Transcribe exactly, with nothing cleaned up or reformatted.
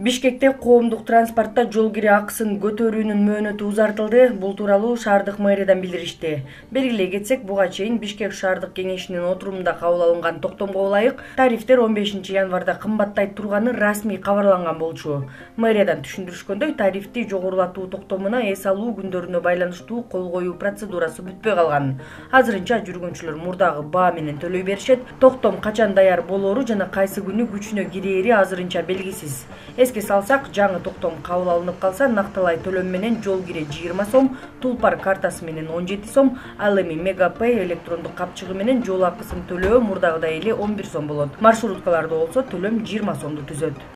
Бишкекте коомдук транспортто жол кире акысын көтөрүүнүн мөөнөтү узартылды. Бул тууралуу шаардык мэриядан билдиришти. Белгилей кетсек, буга чейин Бишкек шаардык кеңешинин отурумунда кабыл алынган токтомго ылайык тарифтер он бешинчи январда кымбаттай турганы расмий кабарланган болчу. Мэриядан түшүндүрүшкөндөй, тарифти жогорулатуу токтомуна эс алуу күндөрүнө байланыштуу кол коюу процедурасы бүтпөй калган. Азырынча жүргүнчүлөр мурдагы баа менен төлөй беришет. Токтом качан даяр болору жана кайсы күнү күчүнө кирери азырынча белгисиз. Эске салсак, жаңы токтом кабыл алынып калса, накталай төлөм менен жол кире жыйырма сом, Тулпар картасы менен он жети сом, ал эми Мегапэй электрондук капчыгы менен жол акысын төлөө мурдагыдай эле он бир сом болот. Маршруткаларда болсо төлөм жыйырма сомду түзөт.